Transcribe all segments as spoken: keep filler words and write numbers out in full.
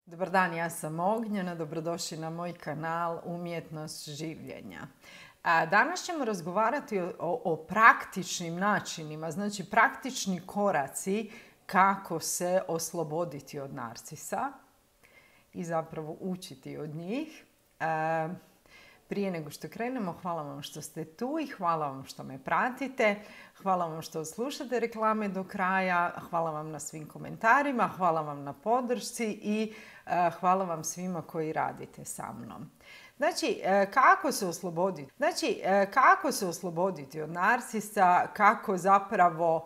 Dobar dan, ja sam Ognjena, dobrodošli na moj kanal Umjetnost življenja. Danas ćemo razgovarati o, o praktičnim načinima, znači praktični koraci kako se osloboditi od narcisa i zapravo učiti od njih. Prije nego što krenemo, hvala vam što ste tu i hvala vam što me pratite. Hvala vam što slušate reklame do kraja. Hvala vam na svim komentarima, hvala vam na podršci i uh, hvala vam svima koji radite sa mnom. Znači, uh, kako se osloboditi? Znači, uh, kako se osloboditi od narcisa, kako zapravo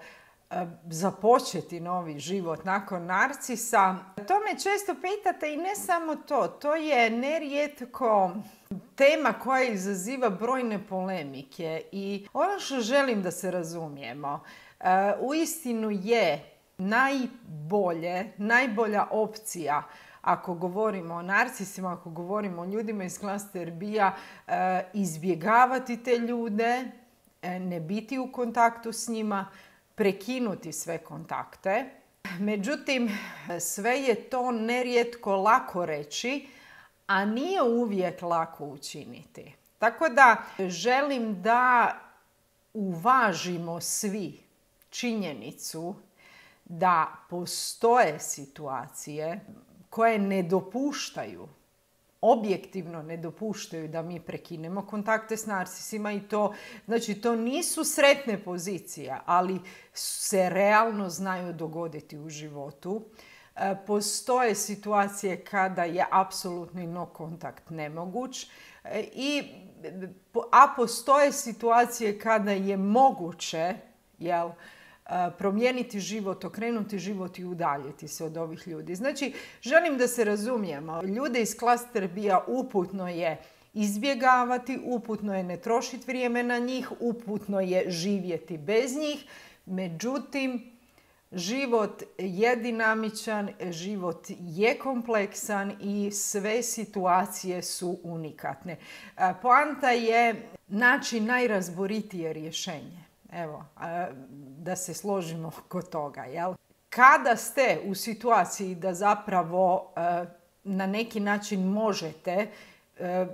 započeti novi život nakon narcisa. To me često pitate i ne samo to. To je nerijetko tema koja izaziva brojne polemike i ono što želim da se razumijemo, uistinu je najbolje, najbolja opcija ako govorimo o narcisima, ako govorimo o ljudima iz klaster B-a, izbjegavati te ljude, ne biti u kontaktu s njima, prekinuti sve kontakte. Međutim, sve je to nerijetko lako reći, a nije uvijek lako učiniti. Tako da želim da uvažimo svi činjenicu da postoje situacije koje ne dopuštaju, objektivno ne dopuštaju da mi prekinemo kontakte s narcisima i to, znači to nisu sretne pozicije, ali se realno znaju dogoditi u životu. E, postoje situacije kada je apsolutni no kontakt nemoguć, e, i, a postoje situacije kada je moguće, jel, promijeniti život, okrenuti život i udaljiti se od ovih ljudi. Znači, želim da se razumijemo. Ljude iz klaster B-a uputno je izbjegavati, uputno je ne trošiti vrijeme na njih, uputno je živjeti bez njih. Međutim, život je dinamičan, život je kompleksan i sve situacije su unikatne. Poanta je naći najrazboritije rješenje. Evo, da se složimo oko toga, jel? Kada ste u situaciji da zapravo na neki način možete,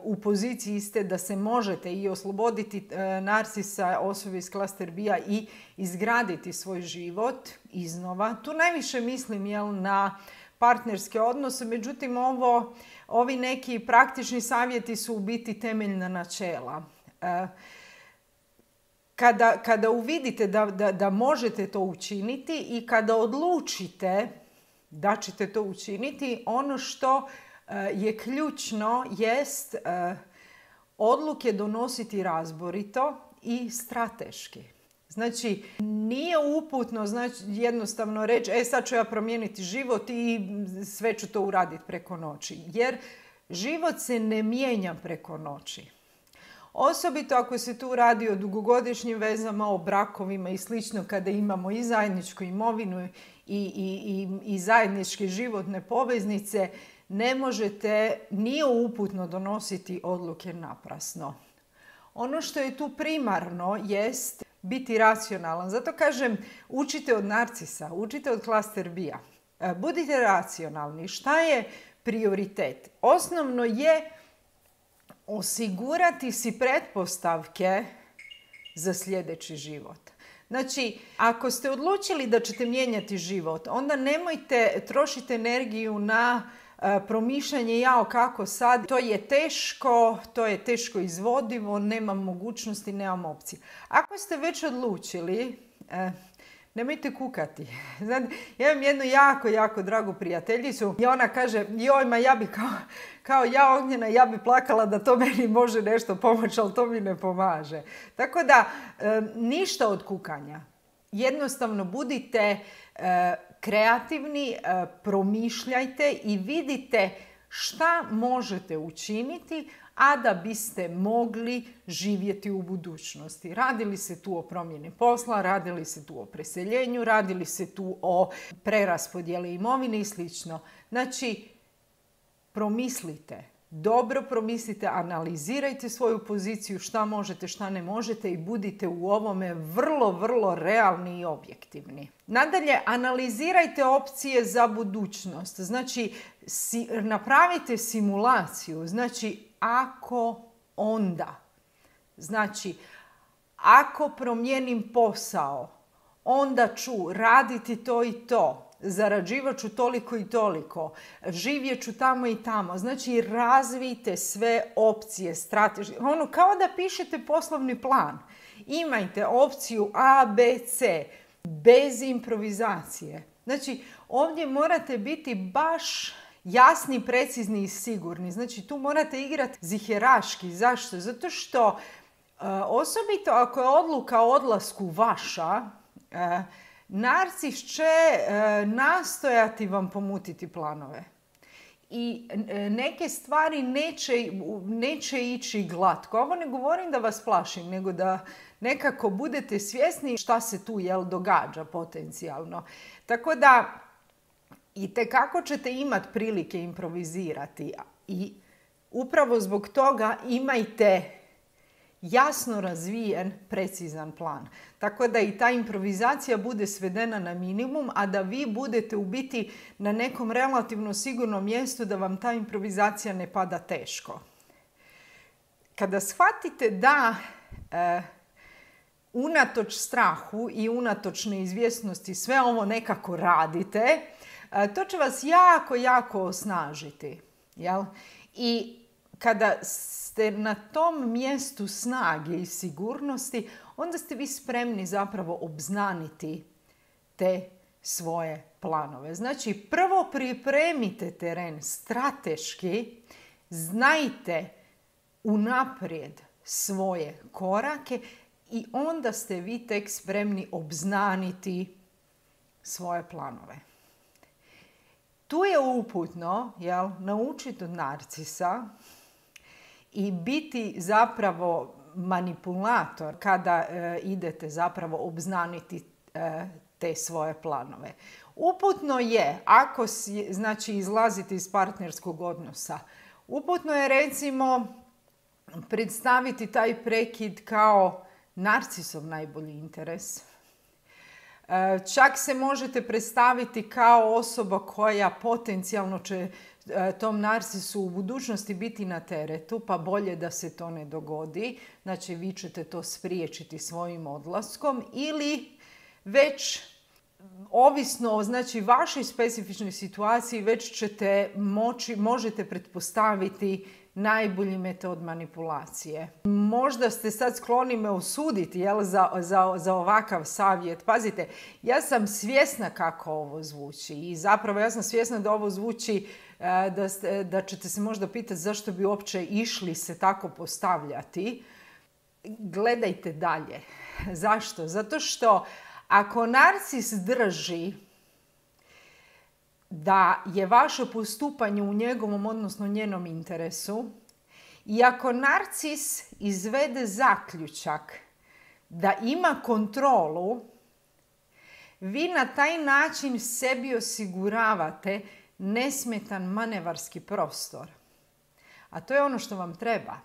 u poziciji ste da se možete i osloboditi narcisa, osobe iz klaster B-a i izgraditi svoj život iznova. Tu najviše mislim, jel, na partnerske odnose, međutim ovo, ovi neki praktični savjeti su u biti temeljna načela. Kada, kada uvidite da, da, da možete to učiniti i kada odlučite da ćete to učiniti, ono što uh, je ključno jest uh, odluke donositi razborito i strateški. Znači, nije uputno, znači, jednostavno reći, e sad ću ja promijeniti život i sve ću to uraditi preko noći. Jer život se ne mijenja preko noći. Osobito ako se tu radi o dugogodišnjim vezama, o brakovima i slično, kada imamo i zajedničku imovinu i, i, i, i zajedničke životne poveznice, ne možete, nije uputno donositi odluke naprasno. Ono što je tu primarno jest biti racionalan. Zato kažem, učite od narcisa, učite od klaster B-a. Budite racionalni. Šta je prioritet? Osnovno je osigurati si pretpostavke za sljedeći život. Znači, ako ste odlučili da ćete mijenjati život, onda nemojte trošiti energiju na uh, promišljanje jao kako sad. To je teško, to je teško izvodivo, nemam mogućnosti, nemam opcije. Ako ste već odlučili, uh, nemojte kukati. Znate, ja imam jednu jako, jako dragu prijateljicu i ona kaže, joj, ma ja bi kao, kao ja Ognjena, ja bi plakala da to meni može nešto pomoći, ali to mi ne pomaže. Tako da, e, ništa od kukanja. Jednostavno budite e, kreativni, e, promišljajte i vidite šta možete učiniti, a da biste mogli živjeti u budućnosti. Radili se tu o promjeni posla, radili se tu o preseljenju, radili se tu o preraspodjeli imovine i slično. Znači, promislite, dobro promislite, analizirajte svoju poziciju, šta možete, šta ne možete i budite u ovome vrlo, vrlo realni i objektivni. Nadalje, analizirajte opcije za budućnost. Znači, si, napravite simulaciju. Znači, ako onda. Znači, ako promijenim posao, onda ću raditi to i to. Zarađivat ću toliko i toliko, živjet ću tamo i tamo. Znači, razvijte sve opcije strateške. Ono, kao da pišete poslovni plan. Imajte opciju A, B, C, bez improvizacije. Znači, ovdje morate biti baš jasni, precizni i sigurni. Znači, tu morate igrati ziheraški. Zašto? Zato što, uh, osobito ako je odluka o odlasku vaša, uh, narcis će e, nastojati vam pomutiti planove. I e, neke stvari neće, neće ići glatko. Ovo ne govorim da vas plašim, nego da nekako budete svjesni šta se tu jel, događa potencijalno. Tako da itekako ćete imati prilike improvizirati. I upravo zbog toga imajte jasno razvijen, precizan plan. Tako da i ta improvizacija bude svedena na minimum, a da vi budete u biti na nekom relativno sigurnom mjestu da vam ta improvizacija ne pada teško. Kada shvatite da e, unatoč strahu i unatoč neizvjesnosti sve ovo nekako radite, e, to će vas jako, jako osnažiti. Jel? I kada ste na tom mjestu snage i sigurnosti, onda ste vi spremni zapravo obznaniti te svoje planove. Znači, prvo pripremite teren strateški, znajte unaprijed svoje korake i onda ste vi tek spremni obznaniti svoje planove. Tu je uputno, jel, naučiti od narcisa i biti zapravo manipulator kada e, idete zapravo obznaniti e, te svoje planove. Uputno je, ako si, znači, izlazite iz partnerskog odnosa, uputno je recimo predstaviti taj prekid kao narcisov najbolji interes. E, čak se možete predstaviti kao osoba koja potencijalno će tom narcisu u budućnosti biti na teretu, pa bolje da se to ne dogodi. Znači, vi ćete to spriječiti svojim odlaskom ili već, ovisno o znači, vašoj specifičnoj situaciji, već ćete moći, možete pretpostaviti najbolji metod manipulacije. Možda ste sad skloni me osuditi jel, za, za, za ovakav savjet. Pazite, ja sam svjesna kako ovo zvuči i zapravo ja sam svjesna da ovo zvuči Da, ste, da ćete se možda pitati zašto bi uopće išli se tako postavljati. Gledajte dalje. Zašto? Zato što ako narcis drži da je vaše postupanje u njegovom, odnosno njenom interesu, i ako narcis izvede zaključak da ima kontrolu, vi na taj način sebi osiguravate nesmetan manevarski prostor. A to je ono što vam treba.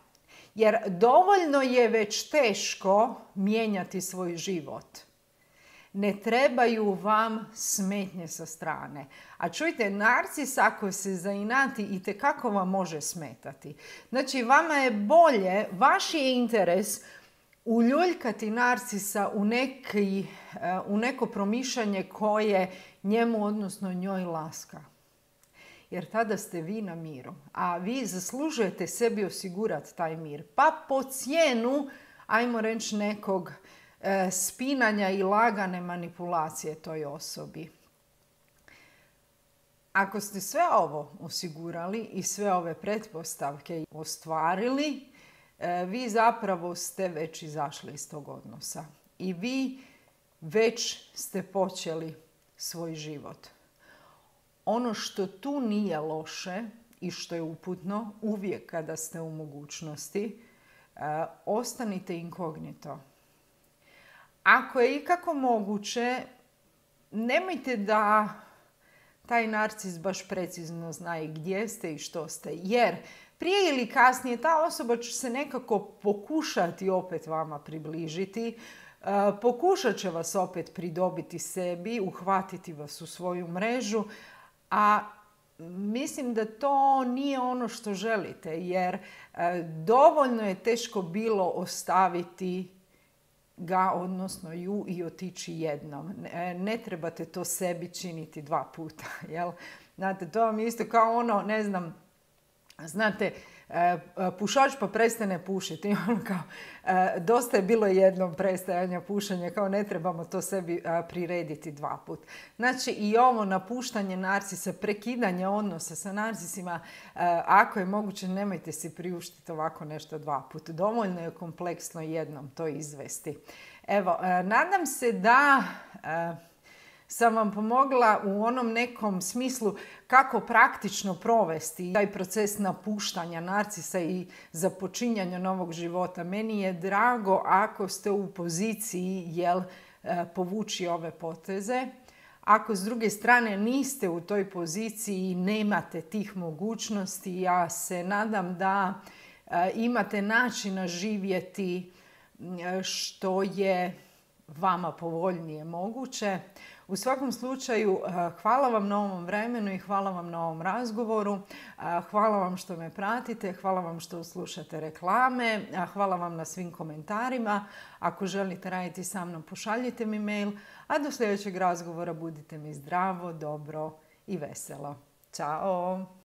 Jer dovoljno je već teško mijenjati svoj život. Ne trebaju vam smetnje sa strane. A čujte, narcis ako se zainati itekako vam može smetati. Znači, vama je bolje, vaš je interes uljuljkati narcisa u, neki, u neko promišljanje koje njemu, odnosno njoj, laska. Jer tada ste vi na miru. A vi zaslužujete sebi osigurati taj mir. Pa po cijenu, ajmo reći, nekog e, spinanja i lagane manipulacije toj osobi. Ako ste sve ovo osigurali i sve ove pretpostavke ostvarili, e, vi zapravo ste već izašli iz tog odnosa. I vi već ste počeli svoj život. Ono što tu nije loše i što je uputno, uvijek kada ste u mogućnosti, e, ostanite inkognito. Ako je ikako moguće, nemojte da taj narcis baš precizno zna gdje ste i što ste, jer prije ili kasnije ta osoba će se nekako pokušati opet vama približiti, pokušat će vas opet pridobiti sebi, uhvatiti vas u svoju mrežu, a mislim da to nije ono što želite, jer dovoljno je teško bilo ostaviti ga, odnosno ju, i otići jednom. Ne, ne trebate to sebi činiti dva puta, jel? Znate, to vam je isto kao ono, ne znam, znate, pušač pa prestane pušiti. I ono kao, dosta je bilo jednom prestajanja pušenja, kao ne trebamo to sebi prirediti dva put. Znači i ovo napuštanje narcisa, prekidanje odnosa sa narcisima, ako je moguće, nemojte si priuštiti ovako nešto dva put. Dovoljno je kompleksno jednom to izvesti. Evo, nadam se da sam vam pomogla u onom nekom smislu kako praktično provesti taj proces napuštanja narcisa i započinjanja novog života. Meni je drago ako ste u poziciji jel, povući ove poteze. Ako s druge strane niste u toj poziciji i nemate tih mogućnosti, ja se nadam da imate načina živjeti što je vama povoljnije moguće. U svakom slučaju, hvala vam na ovom vremenu i hvala vam na ovom razgovoru. Hvala vam što me pratite, hvala vam što slušate reklame, hvala vam na svim komentarima. Ako želite raditi sa mnom, pošaljite mi mail, a do sljedećeg razgovora budite mi zdravo, dobro i veselo. Ćao!